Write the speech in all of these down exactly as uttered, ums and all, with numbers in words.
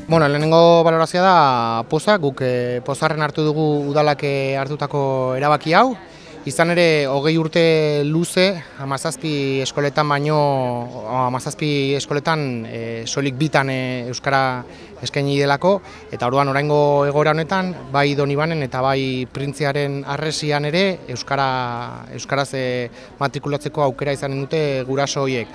Bueno, lehenengo balorazioa da poza, guk eh, pozarren hartu dugu udalak eh, hartutako erabaki hau. Izan ere, hogei urte luze, hamazazpi eskoletan baino, hamazazpi eskoletan e, soilik bitan e, euskara eskaini delako, eta orduan oraingo egoera honetan, bai Donibanen eta bai Printziaren harresian ere euskara euskaraz e, matrikulatzeko aukera izanen dute guraso horiek.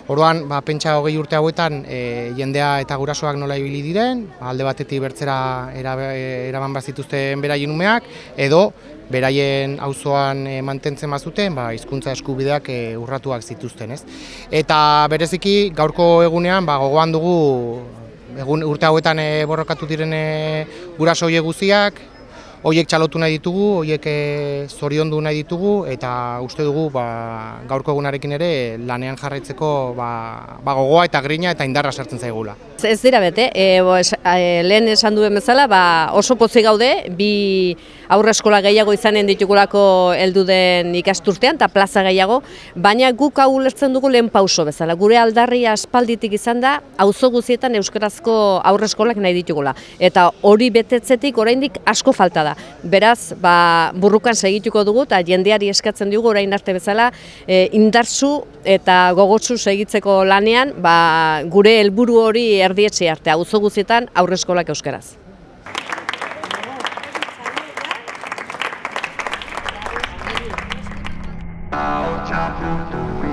Orduan, ba, pentsa hogei urte hauetan e, jendea eta gurasoak nola ibili diren, alde batetik bertzera eraman bazituzten beraien umeak, edo beraien auzoan e, mantentzen bazuten, ba, hizkuntza eskubideak e, urratuak zituzten, ez? Eta bereziki gaurko egunean ba, gogoan dugu egun, urte hauetan e, borrokatu diren e, guraso horiek guztiak, horiek txalotu nahi ditugu, horiek e, zoriondu nahi ditugu, eta uste dugu ba, gaurko egunarekin ere lanean jarraitzeko ba, ba, gogoa eta grina eta indarra sartzen zaigula. Ez dira bete, e, bo, es, e, lehen esan duen bezala ba, oso pozik gaude, bi aurreskola gehiago izanen ditugulako heldu den ikasturtean eta plaza gehiago, baina guk hau ulertzen dugu lehen pauso bezala. Gure aldarria aspalditik izan da, auzo guztietan euskarazko aurreskolak nahi ditugula. Eta hori betetzetik oraindik asko falta da. Beraz, ba, burrukan segituko dugu eta jendeari eskatzen dugu orain arte bezala e, indartsu eta gogotsu segitzeko lanean ba, gure helburu hori erdietxe arte, auzo guztietan aurreskolak euskaraz. I'll